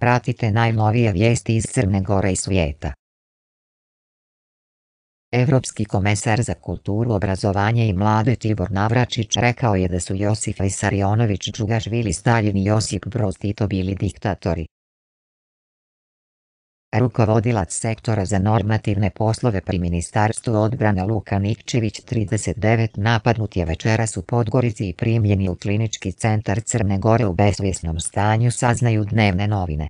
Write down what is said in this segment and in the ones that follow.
Pratite najnovije vijesti iz Crne Gore i svijeta. Evropski komesar za kulturu, obrazovanje i mlade Tibor Navračić rekao je da su Josif Vissarionović Džugašvili, Staljin i Josip Broz Tito bili diktatori. Rukovodilac sektora za normativne poslove pri Ministarstvu odbrane Luka Nikčević, 39, napadnut je večeras u Podgorici i primljen je u Klinički centar Crne Gore u besvjesnom stanju, saznaju dnevne novine.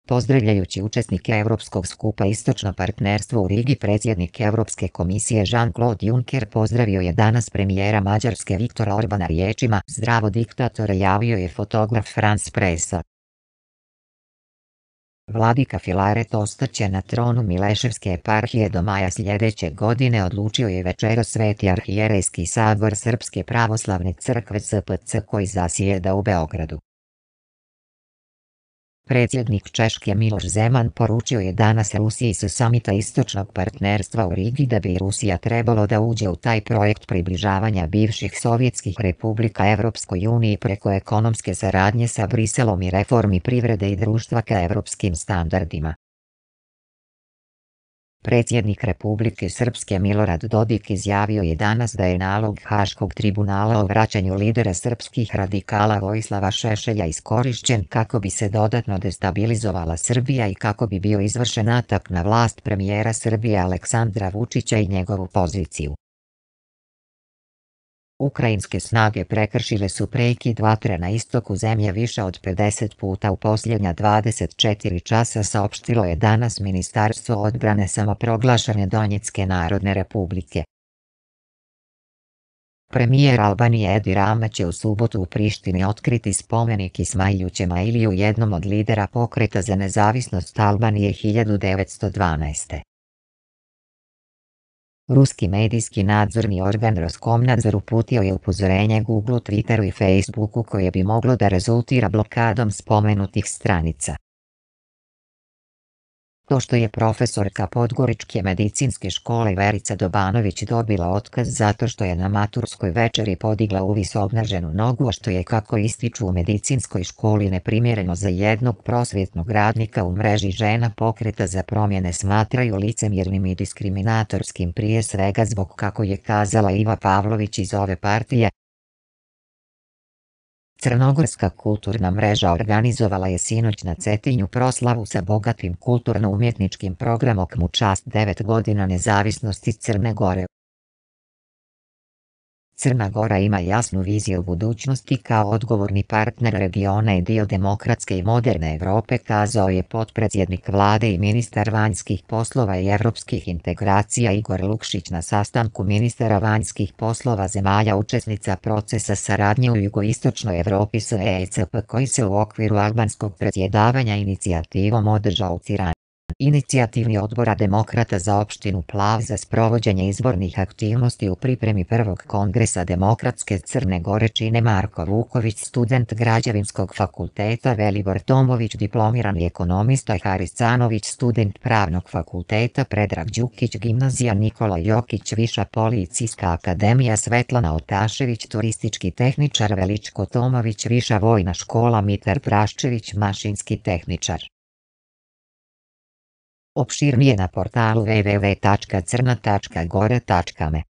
Pozdravljajući učesnike Evropskog skupa Istočno partnerstvo u Rigi, predsjednik Evropske komisije Jean-Claude Juncker pozdravio je danas premijera Mađarske Viktora Orbana riječima "Zdravo diktatore", javio je fotograf France Pressa. Vladika Filaret ostaće na tronu Mileševske eparhije do maja sljedeće godine, odlučio je večeras Sveti arhijerejski sabor Srpske pravoslavne crkve SPC koji zasjeda u Beogradu. Predsjednik Češke Miloš Zeman poručio je danas Rusiji sa samita Istočnog partnerstva u Rigi da bi Rusija trebalo da uđe u taj projekt približavanja bivših sovjetskih republika Evropskoj uniji preko ekonomske saradnje sa Briselom i reformi privrede i društva ka evropskim standardima. Predsjednik Republike Srpske Milorad Dodik izjavio je danas da je nalog Haškog tribunala o vraćanju lidera srpskih radikala Vojislava Šešelja iskorišćen kako bi se dodatno destabilizovala Srbija i kako bi bio izvršen atak na vlast premijera Srbije Aleksandra Vučića i njegovu poziciju. Ukrajinske snage prekršile su prekid vatre na istoku zemlje više od 50 puta u posljednja 24 časa, saopštilo je danas Ministarstvo odbrane samoproglašene Donjecke narodne republike. Premijer Albanije Edi Rama će u subotu u Prištini otkriti spomenik Ismailu Ćemailiju, jednom od lidera pokreta za nezavisnost Albanije 1912. Ruski medijski nadzorni organ Roskomnadzor uputio je upozorenje Google, Twitteru i Facebooku koje bi moglo da rezultira blokadom spomenutih stranica. To što je profesorka Podgoričke medicinske škole Verica Dobanović dobila otkaz zato što je na maturskoj večeri podigla uvis obnaženu nogu, a što je, kako ističu u medicinskoj školi, neprimjereno za jednog prosvjetnog radnika, u mreži žena pokreta za promjene smatraju licemjernim i diskriminatorskim, prije svega zbog, kako je kazala Iva Pavlović iz ove partije. Crnogorska kulturna mreža organizovala je sinoć na Cetinju proslavu sa bogatim kulturno-umjetničkim programom u čast 9 godina nezavisnosti Crne Gore. Crna Gora ima jasnu viziju budućnosti kao odgovorni partner regiona i dio demokratske i moderne Evrope, kazao je potpredsjednik vlade i ministar vanjskih poslova i evropskih integracija Igor Lukšić na sastanku ministara vanjskih poslova zemalja učesnica procesa saradnje u jugoistočnoj Evropi s ECP koji se u okviru albanskog predsjedavanja inicijativom održao u Tirani. Inicijativni odbora demokrata za opštinu Plav za sprovođenje izbornih aktivnosti u pripremi prvog kongresa Demokratske Crne Gore čine Marko Vuković, student Građevinskog fakulteta, Velibor Tomović, diplomirani ekonomista, Haris Canović, student Pravnog fakulteta, Predrag Đukić, gimnazija Nikola Jokić, Viša policijska akademija, Svetlana Otašević, turistički tehničar, Veličko Tomović, Viša vojna škola, Mitar Praščević, mašinski tehničar. Opširnije na portalu www.crna.gore.me